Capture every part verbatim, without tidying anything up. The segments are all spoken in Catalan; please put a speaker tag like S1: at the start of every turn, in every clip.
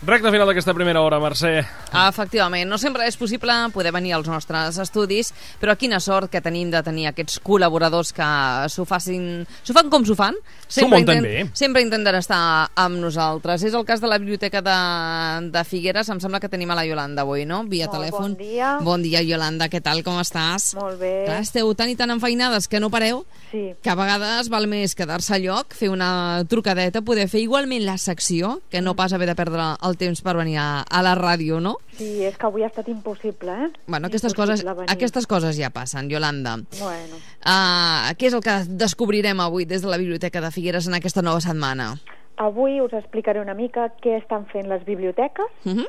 S1: Recte final d'aquesta primera hora, Mercè.
S2: Efectivament, no sempre és possible poder venir als nostres estudis, però quina sort que tenim de tenir aquests col·laboradors que s'ho facin, s'ho fan com s'ho fan.
S1: S'ho munten bé.
S2: Sempre intenten estar amb nosaltres. És el cas de la Biblioteca de, de Figueres. Em sembla que tenim a la Iolanda avui, no? Via
S3: Molt
S2: telèfon.
S3: Bon dia.
S2: Bon dia, Iolanda. Què tal? Com estàs?
S3: Molt bé.
S2: Clar, esteu tan i tan enfeinades que no pareu,
S3: Sí.
S2: que a vegades val més quedar-se a lloc, fer una trucadeta, poder fer igualment la secció, que no pas haver de perdre el temps per venir a, a la ràdio, no?
S3: Sí, és que avui ha estat impossible, eh?
S2: Bueno, aquestes
S3: Impossible
S2: coses,
S3: venir.
S2: aquestes coses ja passen, Iolanda.
S3: Bueno.
S2: Uh, què és el que descobrirem avui des de la Biblioteca de Figueres en aquesta nova setmana?
S3: Avui us explicaré una mica què estan fent les biblioteques
S2: Uh -huh.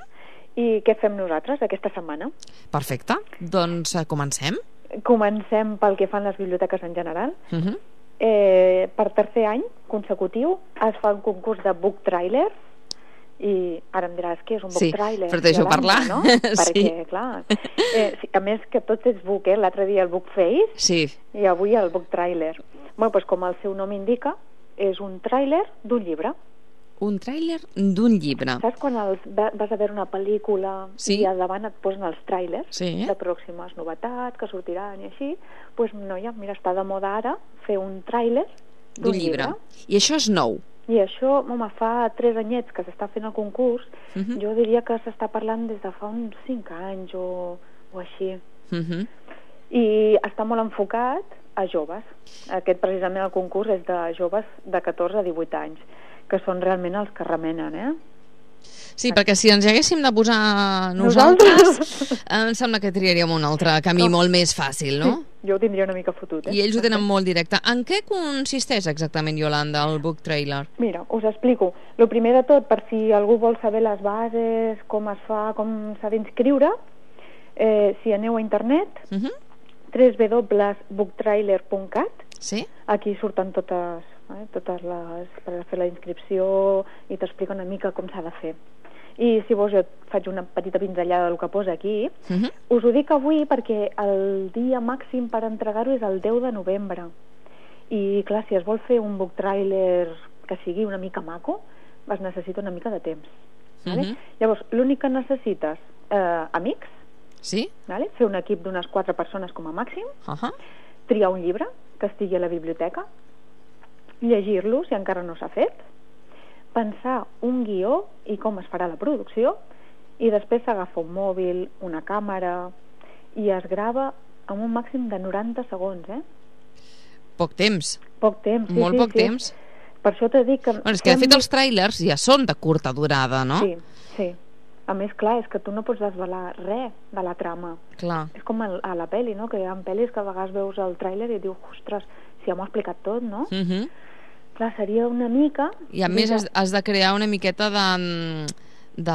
S3: i què fem nosaltres aquesta setmana.
S2: Perfecte. Doncs uh, comencem.
S3: Comencem pel que fan les biblioteques en general.
S2: Uh -huh.
S3: Eh, per tercer any consecutiu es fa un concurs de book trailer i ara em diràs què és un book
S2: Sí,
S3: trailer,
S2: però deixo
S3: Iolanda,
S2: parlar.
S3: no?
S2: Sí.
S3: Perquè, clar, eh, sí, a més que tot és book, eh? L'altre dia el book face
S2: Sí.
S3: i avui el book trailer. Bueno, doncs com el seu nom indica, és un tràiler d'un llibre.
S2: Un tràiler d'un llibre.
S3: Saps quan els, va- vas a veure una pel·lícula
S2: Sí.
S3: i al davant et posen els tràilers
S2: Sí.
S3: de pròximes novetats que sortiran i així? Doncs, noia, mira, està de moda ara fer un tràiler
S2: D'un llibre. I això és nou.
S3: I això, home, fa tres anyets que s'està fent el concurs.
S2: Uh -huh.
S3: Jo diria que s'està parlant des de fa uns cinc anys o, o així.
S2: Uh -huh.
S3: I està molt enfocat a joves. Aquest, precisament, el concurs és de joves de catorze a divuit anys, que són realment els que remenen, eh?
S2: Sí, perquè si ens hi haguéssim de posar nosaltres, em sembla que triaríem un altre camí
S3: No.
S2: molt més fàcil, no?
S3: Sí, jo ho tindria una mica fotut, eh?
S2: I ells ho tenen molt directe. En què consisteix exactament, Iolanda, el book trailer?
S3: Mira, us explico. El primer de tot, per si algú vol saber les bases, com es fa, com s'ha d'inscriure, eh, si aneu a internet,
S2: Uh -huh.
S3: w w w punt book trailer punt cat,
S2: Sí?
S3: aquí surten totes, eh, totes les... per fer la inscripció i t'explica una mica com s'ha de fer. I si vols jo et faig una petita pinzellada del que posa aquí.
S2: Uh -huh.
S3: Us ho dic avui perquè el dia màxim per entregar-ho és el deu de novembre. I clar, si es vol fer un book trailer que sigui una mica maco, es necessita una mica de temps. Vale?
S2: Uh -huh.
S3: Llavors, l'únic que necessites, eh, amics,
S2: Sí?
S3: vale? Fer un equip d'unes quatre persones com a màxim,
S2: Uh -huh.
S3: triar un llibre que estigui a la biblioteca, llegir-lo si encara no s'ha fet, pensar un guió i com es farà la producció, i després s'agafa un mòbil, una càmera, i es grava amb un màxim de noranta segons, eh?
S2: Poc temps.
S3: Poc temps, sí,
S2: Molt
S3: sí,
S2: poc
S3: sí.
S2: temps.
S3: Per això t'he dit que...
S2: Bueno, és que de fet els trailers ja són de curta durada, no?
S3: Sí, sí. A més, clar, és que tu no pots desvelar res de la trama.
S2: Clar.
S3: És com el, a la pel·li, no? Que hi ha pel·lis que a vegades veus el tràiler i dius, ostres, si ja m'ho ha explicat tot, no?
S2: Uh -huh.
S3: Clar, seria una mica...
S2: I a més
S3: Mira,
S2: has, has de crear una miqueta de... de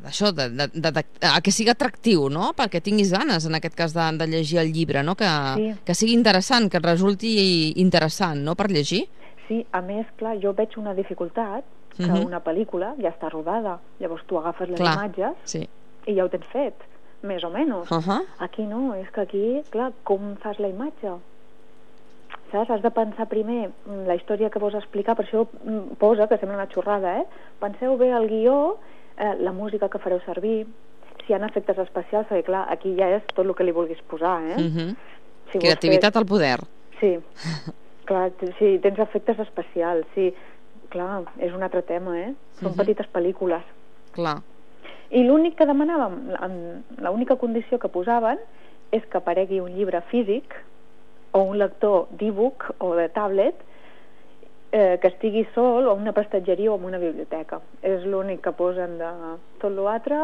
S2: d'això, de, de, de, de, de, que sigui atractiu, no? Perquè tinguis ganes, en aquest cas, de, de llegir el llibre, no? Que,
S3: Sí.
S2: que sigui interessant, que et resulti interessant, no?, per llegir.
S3: Sí, a més, clar, jo veig una dificultat, que
S2: Uh -huh.
S3: una pel·lícula ja està rodada, llavors tu agafes les
S2: Clar.
S3: imatges
S2: Sí.
S3: i ja ho tens fet, més o menys.
S2: Uh -huh.
S3: Aquí no, és que aquí, clar, com fas la imatge? Saps? Has de pensar primer mm, la història que vols explicar, per això mm, posa, que sembla una xorrada, eh? Penseu bé el guió, eh, la música que fareu servir, si hi ha efectes especials, perquè clar, aquí ja és tot el que li vulguis posar, eh?
S2: Uh -huh.
S3: Si vols
S2: Creativitat al poder.
S3: Fer... Sí, clar, t- si tens efectes especials, sí, clar, és un altre tema, eh? Són
S2: Mhm.
S3: petites pel·lícules.
S2: Clar.
S3: I l'únic que demanàvem, en- l'única condició que posaven és que aparegui un llibre físic o un lector d'e-book o de tablet eh, que estigui sol o en una prestatgeria o en una biblioteca. És l'únic que posen de... Tot l'altre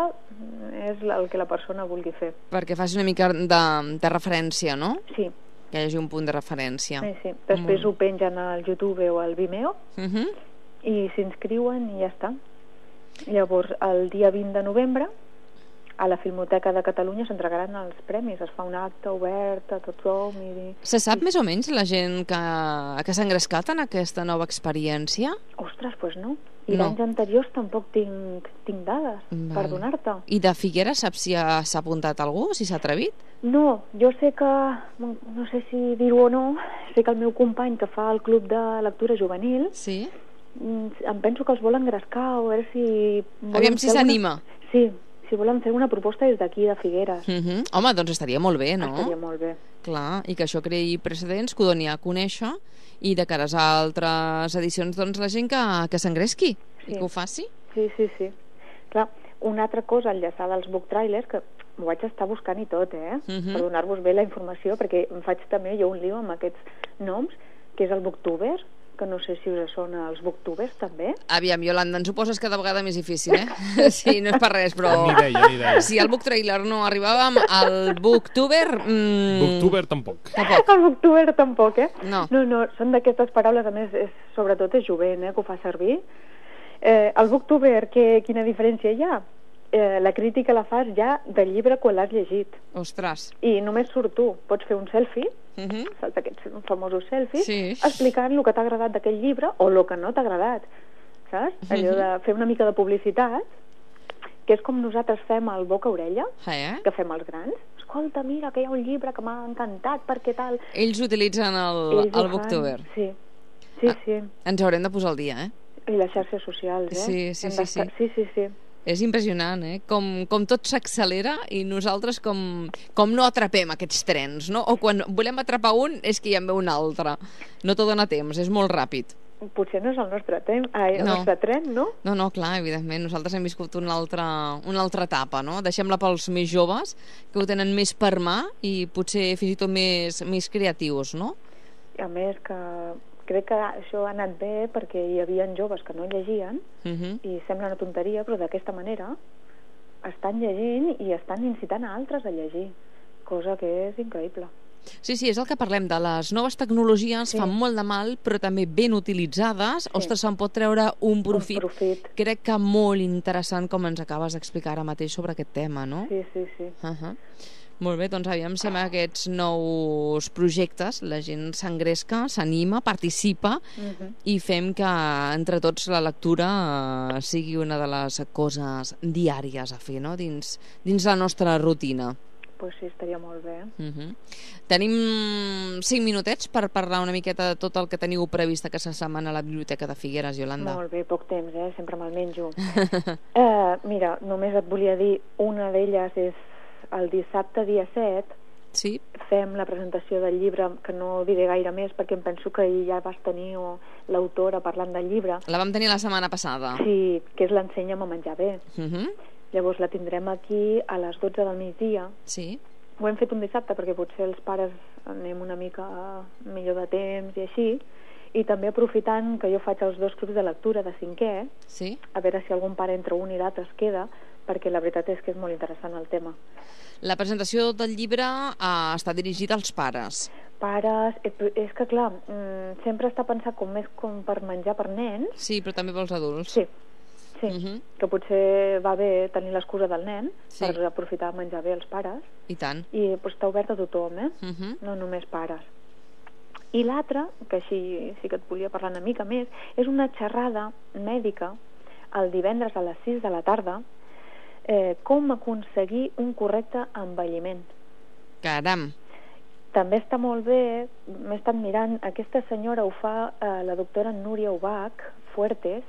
S3: és el que la persona vulgui fer.
S2: Perquè faci una mica de, de referència, no?
S3: Sí,
S2: Que hi hagi un punt de referència.
S3: sí, sí. Després
S2: Molt.
S3: ho pengen al YouTube o al Vimeo
S2: Uh -huh.
S3: i s'inscriuen i ja està. Llavors, el dia vint de novembre, a la Filmoteca de Catalunya s'entregaran els premis. Es fa un acte obert a tothom i...
S2: Se sap més o menys la gent que, que s'ha engrescat en aquesta nova experiència?
S3: Ostres, doncs no. I
S2: No.
S3: d'anys anteriors tampoc tinc, tinc dades
S2: Val.
S3: per donar-te.
S2: I de Figueres saps si ha- s'ha apuntat algú, si s'ha atrevit?
S3: No, jo sé que, no sé si dir-ho o no, sé que el meu company que fa el club de lectura juvenil
S2: Sí.
S3: em penso que els volen engrescar, o a veure si...
S2: Aviam si s'anima.
S3: Alguna... Sí, si volen fer una proposta des d'aquí, de Figueres.
S2: Uh -huh. Home, doncs estaria molt bé, no?
S3: Estaria molt bé.
S2: Clar, i que això creï precedents, que ho doni a conèixer, i de cares a altres edicions, doncs la gent que, que s'engresqui sí. i que ho faci.
S3: Sí, sí, sí. Clar, una altra cosa enllaçada als book trailers, que m'ho vaig estar buscant i tot, eh? Uh -huh. Per donar-vos bé la informació, perquè em faig també jo un lío amb aquests noms, que és el booktuber, que no sé si us sona els booktubers, també.
S2: Aviam, Iolanda, ens ho poses cada vegada més difícil, eh? Sí, no és per res, però...
S1: Ni idea, ni idea.
S2: Si al book trailer no arribàvem, al booktuber... Mmm...
S1: Booktuber tampoc.
S2: Tampoc.
S3: El booktuber tampoc, eh?
S2: No.
S3: No, no, són d'aquestes paraules, a més, és, sobretot és jovent, eh, que ho fa servir. Eh, el booktuber, que, quina diferència hi ha? Eh, la crítica la fas ja del llibre quan l'has llegit.
S2: Ostres.
S3: I només surt tu. Pots fer un selfie,
S2: Uh -huh.
S3: saps aquests famosos selfies,
S2: Sí.
S3: explicant el que t'ha agradat d'aquell llibre o el que no t'ha agradat, saps? Allò de fer una mica de publicitat, que és com nosaltres fem el boca-orella,
S2: Eh?
S3: que fem els grans. Escolta, mira, que hi ha un llibre que m'ha encantat, perquè tal...
S2: Ells utilitzen el,
S3: Ells ho
S2: el
S3: fan,
S2: booktuber.
S3: Sí, sí,
S2: Ah.
S3: sí.
S2: Ens haurem de posar al dia, eh?
S3: I les xarxes socials, eh?
S2: Sí, sí,
S3: Hem
S2: sí,
S3: d'estar-
S2: sí.
S3: Sí, sí, sí.
S2: És impressionant, eh? Com, com tot s'accelera i nosaltres com, com no atrapem aquests trens, no? O quan volem atrapar un és que hi en ve un altre. No t'ho dona temps, és molt ràpid.
S3: Potser no és el nostre temps, ai, el
S2: No.
S3: nostre tren, no?
S2: No, no, clar, evidentment. Nosaltres hem viscut una altra, una altra etapa, no? Deixem-la pels més joves, que ho tenen més per mà i potser fins i tot més, més creatius, no?
S3: A més que crec que això ha anat bé perquè hi havia joves que no llegien
S2: Uh -huh.
S3: i sembla una tonteria, però d'aquesta manera estan llegint i estan incitant a altres a llegir, cosa que és increïble.
S2: Sí, sí, és el que parlem, de les noves tecnologies,
S3: Sí.
S2: fan molt de mal, però també ben utilitzades, ostres, se'n pot treure un profit.
S3: Un profit.
S2: Crec que molt interessant, com ens acabes d'explicar ara mateix sobre aquest tema, no?
S3: Sí, sí, sí.
S2: Uh -huh. Molt bé, doncs aviam si amb aquests nous projectes la gent s'engresca, s'anima, participa
S3: Uh -huh.
S2: i fem que entre tots la lectura eh, sigui una de les coses diàries a fer, no? Dins, dins la nostra rutina.
S3: Pues sí, estaria molt bé.
S2: Uh -huh. Tenim cinc minutets per parlar una miqueta de tot el que teniu previst aquesta setmana a la Biblioteca de Figueres, Iolanda.
S3: Molt bé, poc temps, eh? Sempre me'l menjo. eh, mira, només et volia dir, una d'elles és el dissabte dia set,
S2: Sí?
S3: fem la presentació del llibre, que no diré gaire més perquè em penso que ja vas tenir o, l'autora parlant del llibre.
S2: La vam tenir la setmana passada.
S3: Sí, que és l'Ensenya'm a menjar bé.
S2: Uh -huh.
S3: Llavors la tindrem aquí a les dotze del migdia.
S2: Sí.
S3: Ho hem fet un dissabte perquè potser els pares anem una mica millor de temps i així, i també aprofitant que jo faig els dos clubs de lectura de cinquè,
S2: Sí?
S3: a veure si algun pare entre un i l'altre es queda, perquè la veritat és que és molt interessant el tema.
S2: La presentació del llibre eh, està dirigida als pares.
S3: Pares, eh, és que clar, mm, sempre està pensat com més com per menjar per nens.
S2: Sí, però també pels adults.
S3: Sí, sí,
S2: Uh -huh.
S3: que potser va bé tenir l'excusa del nen
S2: Sí.
S3: per aprofitar de menjar bé els pares,
S2: I tant.
S3: i pues, està obert a tothom, eh?
S2: Uh -huh.
S3: No només pares. I l'altra, que així sí que et volia parlar una mica més, és una xerrada mèdica el divendres a les sis de la tarda, eh, com aconseguir un correcte envelliment.
S2: Caram.
S3: També està molt bé, m'he estat mirant, aquesta senyora ho fa eh, la doctora Núria Ubach Fuertes,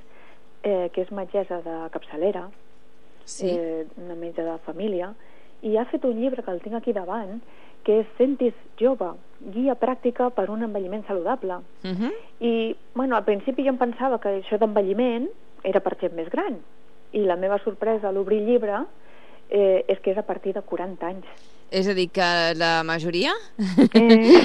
S3: eh, que és metgessa de capçalera,
S2: Sí.
S3: eh, una metge de família, i ha fet un llibre que el tinc aquí davant, que és Sentis jove, guia pràctica per un envelliment saludable.
S2: Uh -huh.
S3: I, bueno, al principi jo em pensava que això d'envelliment era per gent més gran, i la meva sorpresa a l'obrir el llibre eh, és que és a partir de quaranta anys.
S2: És a dir, que la majoria
S3: Eh...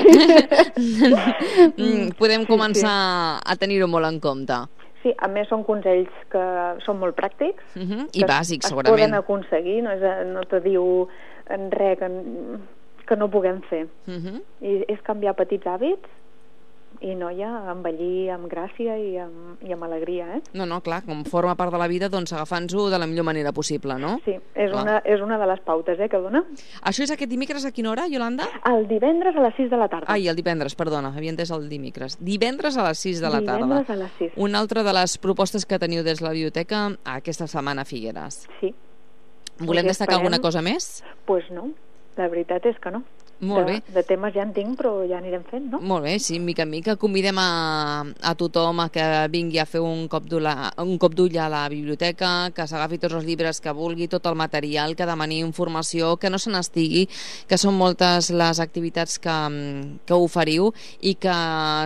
S2: podem
S3: Sí,
S2: començar a tenir-ho molt en compte.
S3: Sí, a més són consells que són molt pràctics.
S2: Uh -huh. I
S3: que
S2: bàsics,
S3: es
S2: segurament.
S3: poden aconseguir, no, és, no te diu en res que, que no puguem fer.
S2: Uh -huh.
S3: I és canviar petits hàbits i, noia, envellir amb gràcia i amb, i amb alegria, eh?
S2: No, no, clar, com forma part de la vida, doncs agafant-ho de la millor manera possible, no?
S3: Sí, és una, és una de les pautes, eh, que dona.
S2: Això és aquest dimecres a quina hora, Iolanda?
S3: El divendres a les sis de la tarda.
S2: Ai, el divendres, perdona, havia entès el dimecres. Divendres a les sis de la tarda.
S3: Divendres a les sis.
S2: Una altra de les propostes que teniu des de la biblioteca aquesta setmana a Figueres.
S3: Sí.
S2: Volem
S3: Pues
S2: destacar
S3: esperem.
S2: alguna cosa més?
S3: Doncs pues no, la veritat és que no.
S2: Molt
S3: de,
S2: bé.
S3: de temes ja en tinc, però ja anirem fent, no?
S2: Molt bé, sí, mica en mica. Convidem a, a tothom a que vingui a fer un cop d'ull a, un cop d'ull a la biblioteca, que s'agafi tots els llibres que vulgui, tot el material, que demani informació, que no se n'estigui, que són moltes les activitats que, que oferiu i que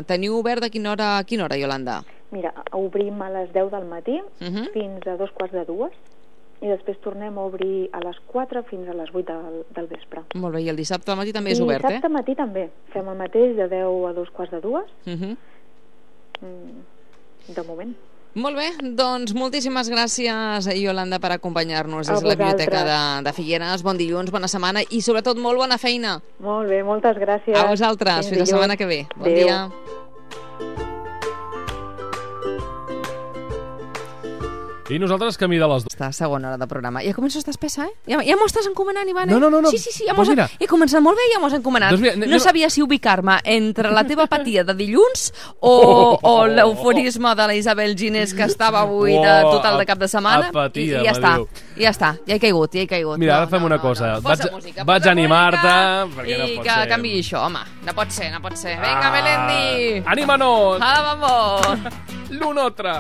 S2: teniu obert de quina hora a quina hora, Iolanda?
S3: Mira, obrim a les deu del matí
S2: Uh -huh.
S3: fins a dos quarts de dues i després tornem a obrir a les quatre fins a les vuit del, del vespre.
S2: Molt bé, i el dissabte al matí també és
S3: I
S2: obert,
S3: dissabte
S2: eh?
S3: matí també. Fem el mateix de deu a dos quarts de dues,
S2: Uh -huh.
S3: mm, de moment.
S2: Molt bé, doncs moltíssimes gràcies, Iolanda, per acompanyar-nos
S3: A
S2: des de la Biblioteca
S3: vosaltres.
S2: de, de Figueres. Bon dilluns, bona setmana i sobretot molt bona feina.
S3: Molt bé, moltes gràcies.
S2: A vosaltres, fins la
S3: dilluns.
S2: setmana que ve. Bon
S3: Adéu.
S2: dia.
S1: I nosaltres camí de les dues.
S2: Està a segona hora de programa. Ja començo a estar espessa, eh? Ja, ja m'ho estàs encomanant, Ivan, eh?
S1: No, no, no, no.
S2: Sí, sí, sí, ja
S1: Pues
S2: m'ho
S1: mira.
S2: he començat molt bé i ja m'ho has encomanat.
S1: Doncs mira, anem-
S2: no sabia si ubicar-me entre la teva apatia de dilluns o, o l'euforisme de la Isabel Ginés, que estava avui de
S1: Oh,
S2: total de cap de setmana.
S1: apatia,
S2: I, i ja està,
S1: m'adiu.
S2: ja està, ja he caigut, ja he caigut.
S1: Mira,
S2: No,
S1: ara fem
S2: no,
S1: una
S2: no,
S1: cosa.
S2: no.
S1: Vaig-
S2: Posa música,
S1: vaig
S2: posa
S1: animar-te,
S2: música
S1: perquè no
S2: i
S1: pot
S2: que
S1: ser.
S2: canviï això, home. No pot ser, no pot ser. Vinga, Melendi!
S1: Anímanos!
S2: Hala, vamos!
S1: L'un altre!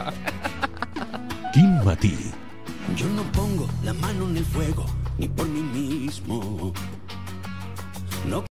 S4: Quin matí.
S5: Yo no pongo la mano en el fuego, ni por mí mismo. No